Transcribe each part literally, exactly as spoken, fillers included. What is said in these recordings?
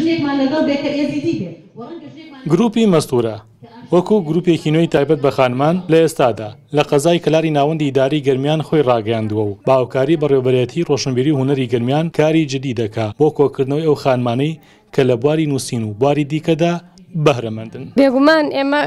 ژنێکمان لەگەڵ بێ کە ئێزیدی بێ. گروپی مەستورە وەکو گروپێکی نوێی تایبەت بە خانمان لە ئێستادا لە قەزای کەلاری ناوەندی ئیداری گەرمیان خۆی ڕاگەیاندووە و بە هاوکاری بەڕێوەبەرێتی ڕۆشنبیری و هونەری گەرمیان کاری جدی دەکا بۆ کۆکردنەوەی ئەو خانمانەی کە لە بواری نووسین و بواری دیکەدا بەهرەمەندن. بێگومان ئێمە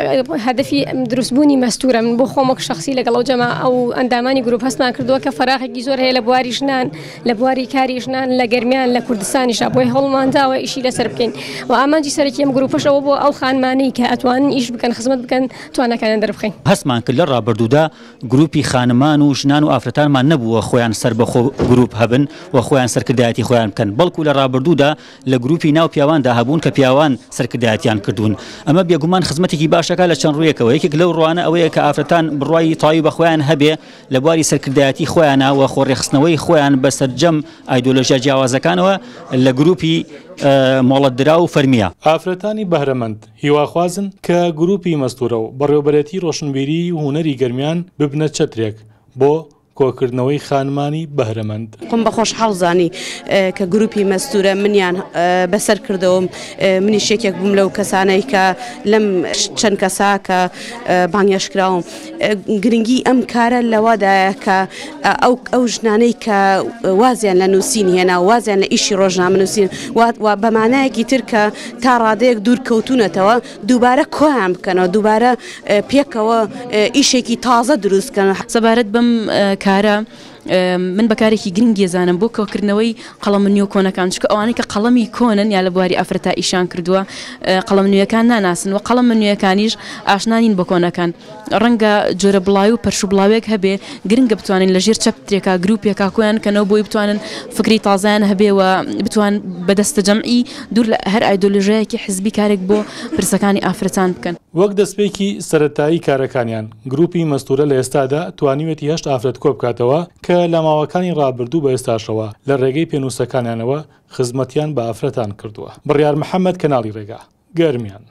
هەدەفی دروستبوونی مەستورە، من بۆ خۆم وەک شخصی لەگەڵ ئەو جەما ئەو ئەندامانی گروپ هەستمان کردووە کە فەراغێکی زۆر هەیە لە بواری ژنان، لە بواری کاری ژنان لە گەرمیان لە کوردستانیشا، بۆی هەوڵمان داوە ئیشی لەسەر بکەین و ئامانجی سەرەکی ئەم گروپەش ئەوە بۆ ئەو خانمانەی کە ئەتوانن ئیش بکەن، خزمەت بکەن، توانەکانیان دەربخەین. هەستمان کرد لە ڕابردوودا گروپی خانمان و ژنان و ئافرەتانمان نەبووە خۆیان سەربەخۆ گروپ هەبن و خۆیان سەرکردایەتی خۆیان بکەن، بەڵکو لە ڕابردوودا لە گروپی ناو پیاواندا هەبوون کە پیاوان سەرکردایەتیان کردوون. ئەمە بێگومان خزمەتێکی باشەکە لە چەند ڕوویەکەوە. یەکێک لەو ڕوانە ئەوەیە کە ئافرەتان بڕوای تەواوی بە خۆیان هەبێ لە بواری سەرکردایەتی خۆیانە و خۆڕێخستنەوەی خۆیان بە سەرجەم ئایدۆلۆژیا جیاوازەکانەوە لە گروپی مۆڵەتدرا و فەرمیە. ئافرەتانی بەهرەمەند هیواخوازن کە گروپی مەستورە و بەڕێوەبەرێتی ڕۆشنبیری و هونەری گەرمیان ببنە چەترێک بۆ کۆکردنەوەی خانمانی بەهرەمەند. خۆم بە خۆشحاڵ زانی کە گروپی مەستورە منیان بەسەر کردەوەم، منیش یەکێک بووم لەو کەسانەی کە لەم چەند کەسا کە بانگێشکراوم. گرنگی ئەم کارە لەوەدایە کە ئەو ئەو ژنانەی کە وازیان لە نووسین هێنا، وازیان لە ئیشی ڕۆژنامە نووسین و بەمانایەکی تر کە تا ڕادەیەک دوور کەوتونەتەوە دووبارە کۆیان بکەنەوە، دووبارە پێکەوە ئیشێکی تازە دروست بکەن. سەبارەت بەم کارە من بەکارێکی گرنگی زانم بۆ کۆکردنەوەی قەڵەمە نوێ کۆنەکان، چونکە ئەوانەی کە قەڵەمی کۆنن یا لە بواری ئافرەتا ئیشان کردووە قەڵەم نوێیەکان ناناسن و قەڵەمە نوێیەکانیش ئاشنا نین بە کۆنەکان. ڕەنگە جۆرە بڵاوی و پەرش و بڵاوێک هەبێ، گرنگە بتوانن لە ژێر چەپترێکا گروپێکا کۆیان کەنەوە بۆی بتوانن فکری تازایان هەبێ و بتوان بەدەستە جەمعی دوور لە هەر ئایدۆلۆژیایەکی حزبی کارێک بۆ پرسەکانی ئافرەتان بکەن. وەک دەستپێکی سەرەتایی کارەکانیان گروپی مەستورە لە ئێستادا توانیوێتی هەشت ئافرەت کۆ بکاتەوە کە لە ماوەکانی ڕابردوو بە ئێستاشەوە لە ڕێگەی پێنووسەکانیانەوە خزمەتیان بە ئافرەتان کردووە. بڕیار محەممەد، کەناڵی ڕێگا، گەرمیان.